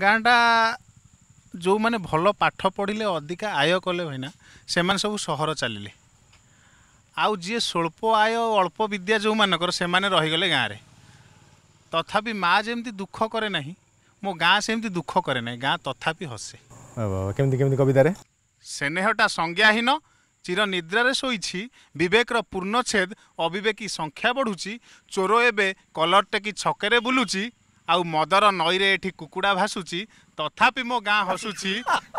ଗାଁଟା ଯେଉଁମାନେ ଭଲ ପାଠ ପଢ଼ିଲେ, ଅଧିକା ଆୟ କଲେ ଭାଇନା, ସେମାନେ ସବୁ ସହର ଚାଲିଲେ। ଆଉ ଯିଏ ସ୍ୱଳ୍ପ ଆୟ, ଅଳ୍ପ ବିଦ୍ୟା ଯେଉଁମାନଙ୍କର, ସେମାନେ ରହିଗଲେ ଗାଁରେ। ତଥାପି ମା ଯେମିତି ଦୁଃଖ କରେ ନାହିଁ, ମୋ ଗାଁ ସେମିତି ଦୁଃଖ କରେ ନାହିଁ, ଗାଁ ତଥାପି ହସେ। କେମିତି କେମିତି କବିତାରେ? ସ୍ନେହଟା ସଂଜ୍ଞାହୀନ ଚିର ନିଦ୍ରାରେ ଶୋଇଛି, ବିବେକର ପୂର୍ଣ୍ଣଚ୍ଛେଦ ଅବିବେକୀ ସଂଖ୍ୟା ବଢ଼ୁଛି, ଚୋର ଏବେ କଲର ଟେକି ଛକରେ ବୁଲୁଛି, ଆଉ ମଦର ନଈରେ ଏଠି କୁକୁଡ଼ା ଭାସୁଛି, ତଥାପି ମୋ ଗାଁ ହସୁଛି,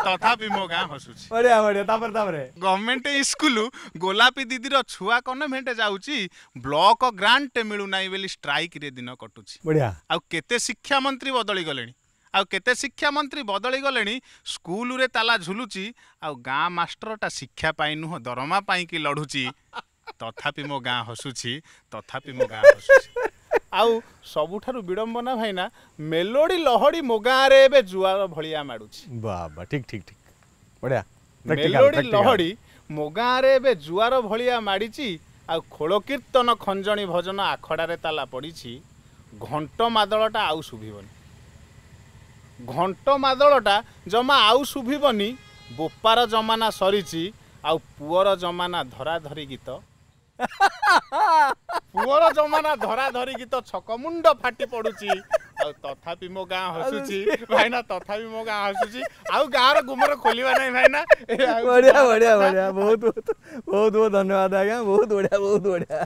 ତଥାପି ମୋ ଗାଁ ହସୁଛି। ବଢିଆ ବଢିଆ। ତାପରେ ତାପରେ? ଗଭର୍ଣ୍ଣମେଣ୍ଟ ସ୍କୁଲ ଗୋଲାପୀ ଦିଦିର ଛୁଆ କନଭେଣ୍ଟ ଯାଉଛି, ବ୍ଲକ ଗ୍ରାଣ୍ଟ ମିଳୁନାହିଁ ବୋଲି ଷ୍ଟ୍ରାଇକରେ ଦିନ କଟୁଛି। ବଢିଆ। ଆଉ କେତେ ଶିକ୍ଷାମନ୍ତ୍ରୀ ବଦଳି ଗଲେଣି, ଆଉ କେତେ ଶିକ୍ଷାମନ୍ତ୍ରୀ ବଦଳି ଗଲେଣି, ସ୍କୁଲରେ ତାଲା ଝୁଲୁଛି, ଆଉ ଗାଁ ମାଷ୍ଟରଟା ଶିକ୍ଷା ପାଇଁ ନୁହଁ ଦରମା ପାଇଁକି ଲଢୁଛି, ତଥାପି ମୋ ଗାଁ ହସୁଛି, ତଥାପି ମୋ ଗାଁ ହସୁଛି। ଆଉ ସବୁଠାରୁ ବିଡ଼ମ୍ବନା ଭାଇନା, ମେଲୋଡି ଲହଡ଼ି ମୋ ଗାଁରେ ଏବେ ଜୁଆର ଭଳିଆ ମାଡୁଛି। ବାବା, ଠିକ ଠିକ ଠିକ, ବଢିଆ। ମେଲୋଡି ଲହଡ଼ି ମୋ ଗାଁରେ ଏବେ ଜୁଆର ଭଳିଆ ମାଡ଼ିଛି, ଆଉ ଖୋଳ କୀର୍ତ୍ତନ ଖଞ୍ଜଣି ଭଜନ ଆଖଡ଼ାରେ ତାଲା ପଡ଼ିଛି, ଘଣ୍ଟ ମାଦଳଟା ଆଉ ଶୁଭିବନି, ଘଣ୍ଟ ମାଦଳଟା ଜମା ଆଉ ଶୁଭିବନି, ବୋପାର ଜମାନା ସରିଛି, ଆଉ ପୁଅର ଜମାନା ଧରାଧରି ଗୀତ, ପୁଅର ଜମାନା ଧରାଧରି ଗୀତ ଛକମୁଣ୍ଡ ଫାଟି ପଡୁଛି, ଆଉ ତଥାପି ମୋ ଗାଁ ହସୁଛି ଭାଇନା, ତଥାପି ମୋ ଗାଁ ହସୁଛି। ଆଉ ଗାଁର ଗୁମର ଖୋଲିବା ନାହିଁ ଭାଇନା। ବଢିଆ ବଢିଆ ବଢିଆ, ବହୁତ ବହୁତ ବହୁତ ବହୁତ ଧନ୍ୟବାଦ ଆଜ୍ଞା, ବହୁତ ବଢିଆ, ବହୁତ ବଢିଆ।